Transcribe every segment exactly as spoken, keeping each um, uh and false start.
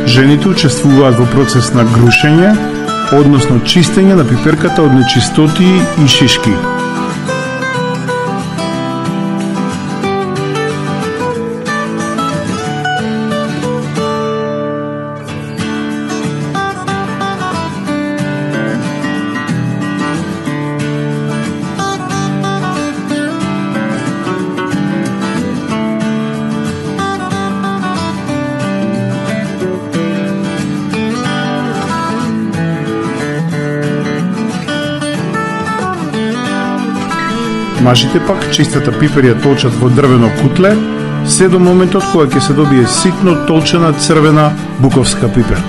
Жените учествуваат во процес на грушење, односно чистење на пиперката од нечистоти и шишки. Мажите пак чистата пипер ја толчат во дрвено кутле, се до моментот кога ќе се добие ситно толчена црвена буковска пипер.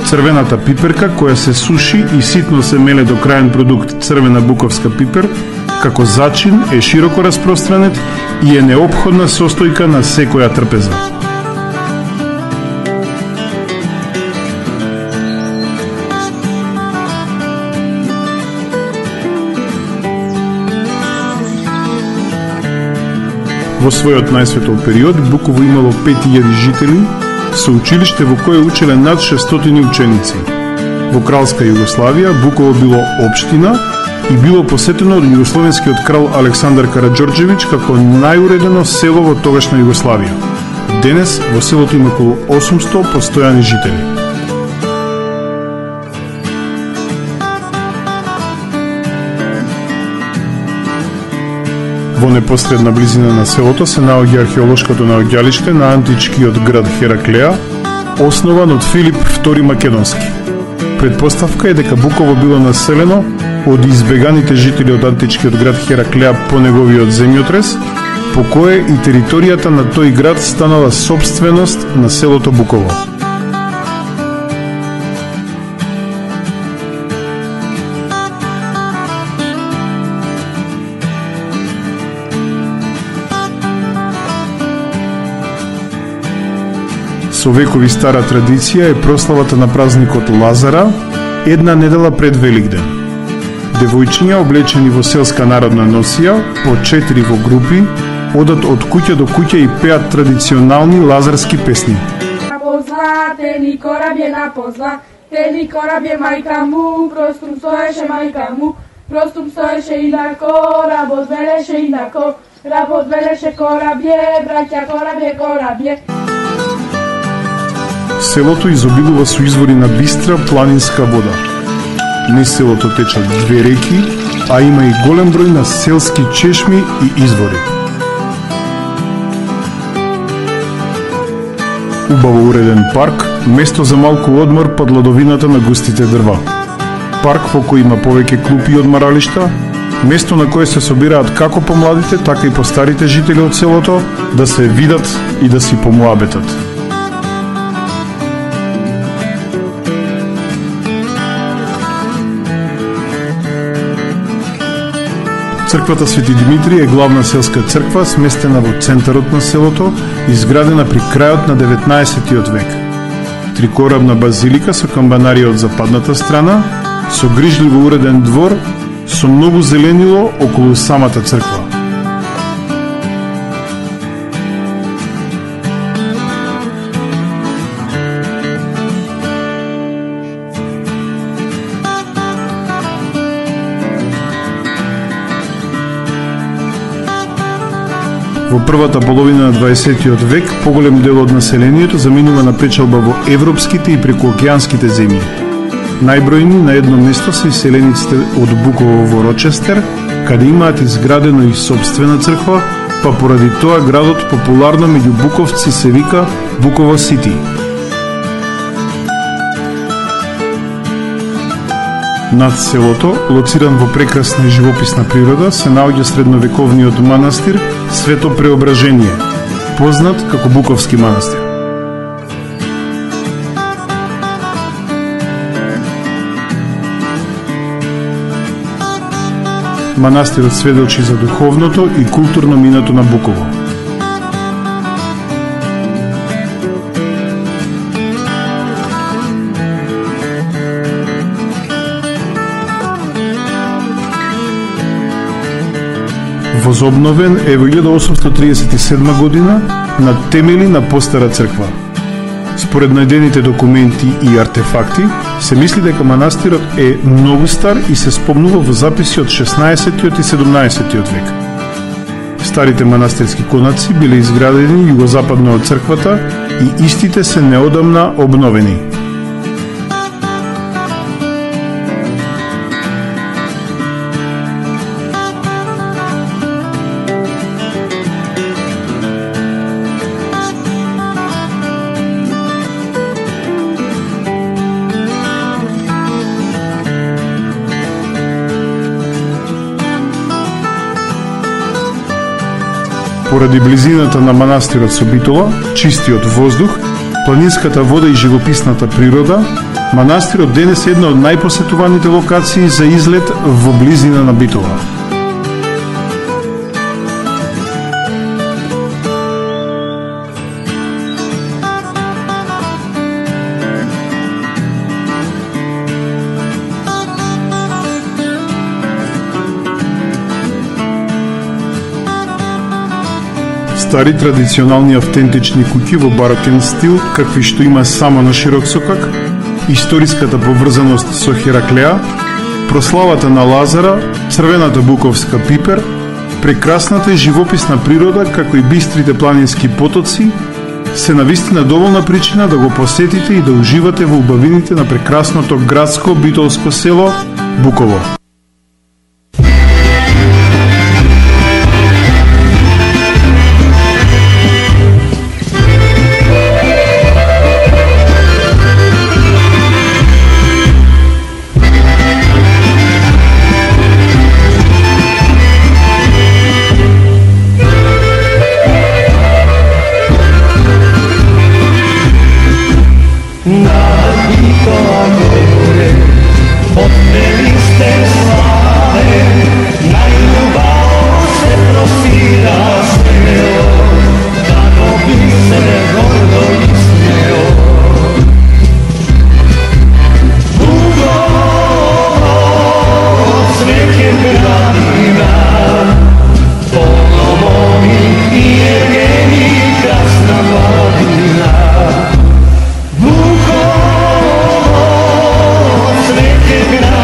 Црвената пиперка која се суши и ситно се меле до крајен продукт црвена буковска пипер, како зачин е широко распространет и е неопходна состојка на секоја трпеза. Во својот најсветол период Буково имало пет илјади жители, со училиште во кое учеле над шестстотини ученици. Во кралска Југославија Буково било општина и било посетено од југословенскиот крал Александар Караџорџевиќ како најуредено село во тогашна Југославија. Денес во селото има околу осумсто постојани жители. Во непосредна близина на селото се наоѓа археолошкото наоѓалиште на античкиот град Хераклеа, основан од Филип втори Македонски. Предпоставка е дека Буково било населено од избеганите жители од античкиот град Хераклеа по неговиот земјотрес, по кое и територијата на тој град станала собственост на селото Буково. Со векови стара традиција е прославата на празникот Лазара една недела пред Великден. Девојчиња облечени во селска народна носија, по четири во групи, одат од куќа до куќа и пеат традиционални лазарски песни. На позла, тели корабје на позла, тели корабје мајка му, простум стоеше мајка му, простум стоеше инако, работ велеше инако, работ велеше корабје, браќа корабје, корабје. Селото изобилува со извори на бистра планинска вода. Низ селото течат две реки, а има и голем број на селски чешми и извори. Убаво уреден парк, место за малку одмор под ладовината на густите дрва. Парк во кој има повеќе клупи и одмаралишта, место на кое се собираат како помладите, така и постарите жители од селото да се видат и да си помуабетат. Црквата Свети Димитри е главна селска црква, сместена во центарот на селото, изградена при крајот на деветнаесеттиот век. Трикорабна базилика со камбанарија од западната страна, со грижливо уреден двор, со многу зеленило околу самата црква. Во првата половина на дваесеттиот век поголем дел од населението заминува на печалба во европските и прекуокеанските земји. Најбројни на едно место се иселениците од Буково во Рочестер, каде имаат изградено и собствена црква, па поради тоа градот популарно меѓу буковци се вика Буково Сити. Над селото, лоциран во прекрасна и живописна природа, се наоѓа средновековниот манастир Свето Преображение, познат како Буковски манастир. Манастирот сведочи за духовното и културно минато на Буково. возобновен е во илјада осумстотини триесет и седма година на темели на постара црква. Според најдените документи и артефакти, се мисли дека манастирот е многу стар и се спомнува во записи од шеснаесеттиот и седумнаесеттиот век. Старите манастирски конаци биле изградени југозападно од црквата и истите се неодамна обновени. Поради близината на манастирот со Битола, чистиот воздух, планинската вода и живописната природа, манастирот денес е една од најпосетуваните локации за излет во близина на Битола. Стари традиционални автентични куќи во барокен стил, какви што има само на Широк сокак, историската поврзаност со Хераклеа, прославата на Лазара, црвената буковска пипер, прекрасната и живописна природа, како и бистрите планински потоци, се навистина доволна причина да го посетите и да уживате во убавините на прекрасното градско битолско село Буково. Bukovo, svete grad.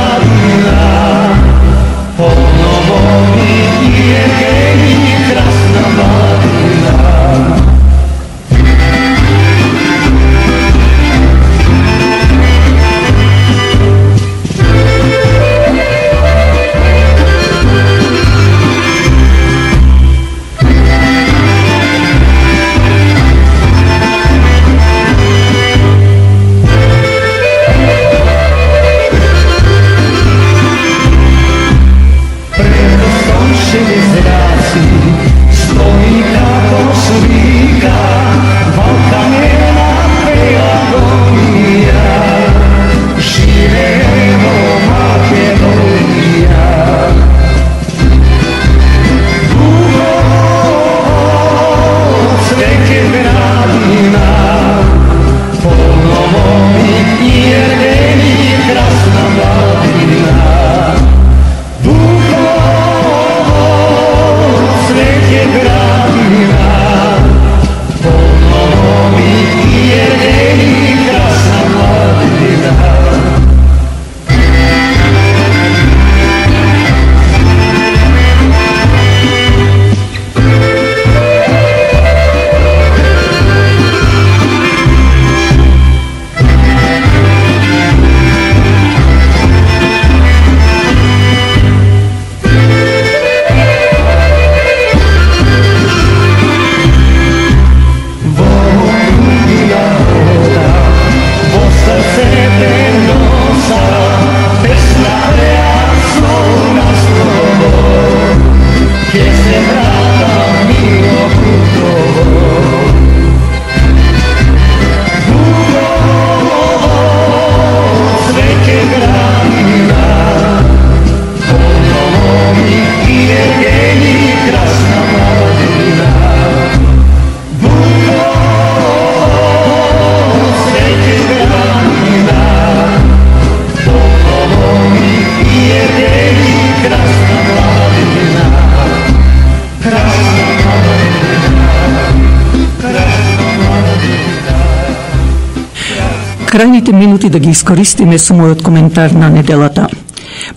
крајните минути да ги искористиме со мојот коментар на неделата.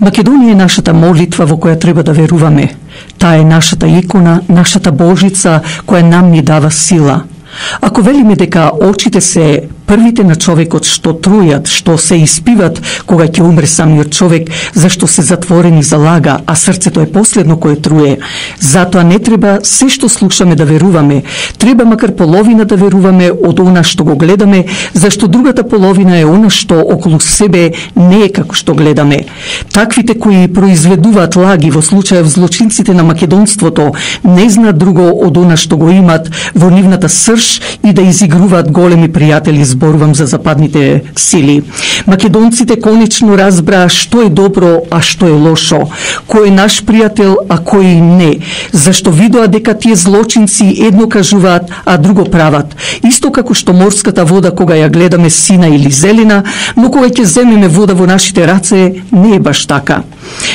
Македонија е нашата молитва во која треба да веруваме. Таа е нашата икона, нашата Божица која нам ни дава сила. Ако велиме дека очите се првите на човекот што трујат, што се испиват кога ќе умре самиот човек, зашто се затворени за лага, а срцето е последно кое труе. Затоа не треба се што слушаме да веруваме. Треба макар половина да веруваме од она што го гледаме, зашто другата половина е она што околу себе не е како што гледаме. Таквите кои произведуваат лаги, во случајов злочинците на македонството, не знаат друго од она што го имат во нивната срж и да изигруваат големи пријатели. Зборувам за западните сили. Македонците конечно разбраа што е добро, а што е лошо, кој е наш пријател, а кој не, зашто видоа дека тие злочинци едно кажуваат, а друго прават. Исто како што морската вода кога ја гледаме сина или зелена, но кога ќе земеме вода во нашите раце, не е баш така.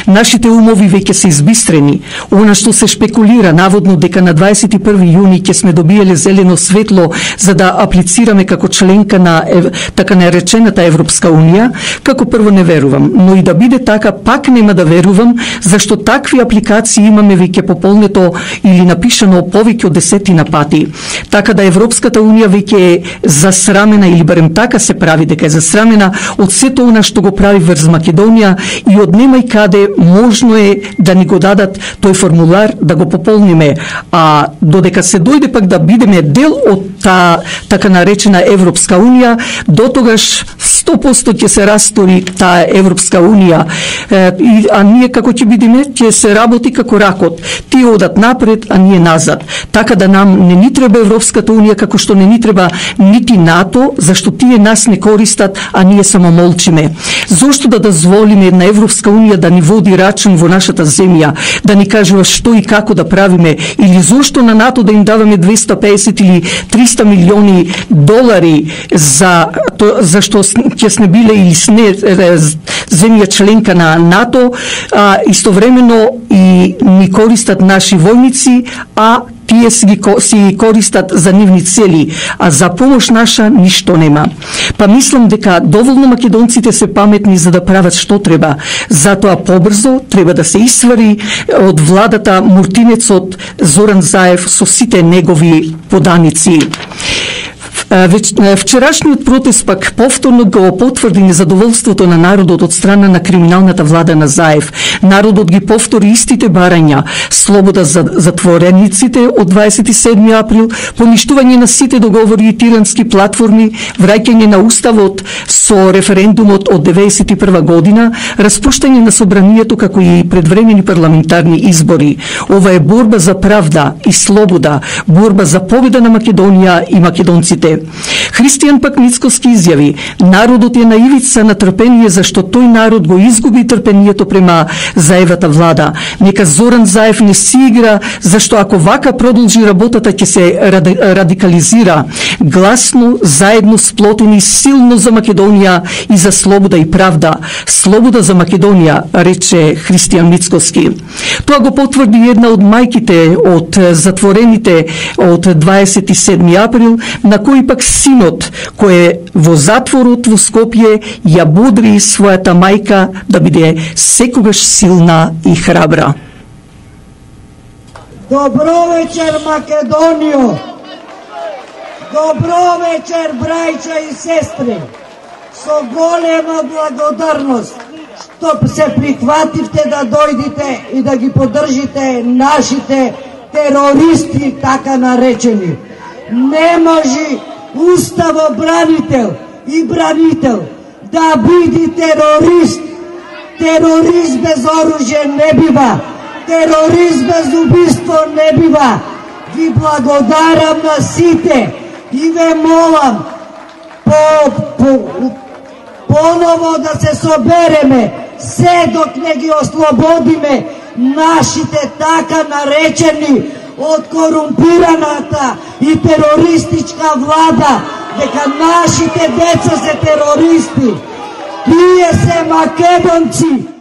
Нашите умови веќе се избистрени. Она што се шпекулира наводно дека на дваесет и први јуни ќе сме добиеле зелено светло за да аплицираме како членка на ев, така наречената Европска унија, како прво не верувам, но и да биде така пак нема да верувам, зашто такви апликации имаме веќе пополнето или напишано повеќе од десетина пати. Така да Европската унија веќе е засрамена, или барем така се прави дека е засрамена од сето она што го прави врз Македонија и од нема и каде можно е да ни го дадат тој формулар да го пополниме, а додека се дојде пак да бидеме дел од таа така наречена Европска унија, дотогаш сто проценти ќе се растори таа Европска унија, е, а ние како ќе бидеме, ќе се работи како ракот. Тие одат напред, а ние назад. Така да нам не ни треба Европската унија, како што не ни треба нити НАТО, зашто тие нас не користат, а ние само молчиме. Зошто да дозволиме една Европска унија да ни води рачун во нашата земја, да ни кажува што и како да правиме, или зошто на НАТО да им даваме двеста и песет или триста милиони долари за то, зашто ќе сме биле или сне земја членка на НАТО, а истовремено и ни користат наши војници, а тие си ги си користат за нивни цели, а за помош наша ништо нема. Па мислам дека доволно македонците се паметни за да прават што треба. Затоа побрзо треба да се исвари од владата муртинецот Зоран Заев со сите негови поданици. Вчерашниот протест пак повторно го потврди незадоволството на народот од страна на криминалната влада на Заев. Народот ги повтори истите барања: слобода за затворениците од дваесет и седми април, поништување на сите договори и тирански платформи, враќање на уставот со референдумот од деветдесет и прва година, распуштање на собранието како и предвремени парламентарни избори. Ова е борба за правда и слобода, борба за победа на Македонија и македонците. Христијан пак Мицкоски изјави: народот е на ивица на трпение, зашто тој народ го изгуби трпението према Заевата влада. Нека Зоран Заев не си игра, зашто ако вака продолжи работата ќе се радикализира. Гласно, заедно сплотени, силно за Македонија и за слобода и правда. Слобода за Македонија, рече Христијан Мицкоски. Тоа го потврди една од мајките од затворените од дваесет и седми април, на кој пак синот, кој е во затворот во Скопје, ја бодри својата мајка да биде секогаш силна и храбра. Добро вечер, Македонијо! Добро вечер, брајча и сестри! Со голема благодарност што се прихвативте да дојдите и да ги поддржите нашите терористи, така наречени. Не може уставобранител и бранител да биде терорист. Терорист без оружје не бива. Терорист без убиство не бива. Ви благодарам на сите и ве молам по, по, поново да се собереме, се док не ги ослободиме нашите така наречени од корумпираната и терористичка влада, дека нашите деца се терористи. Тие се македонци.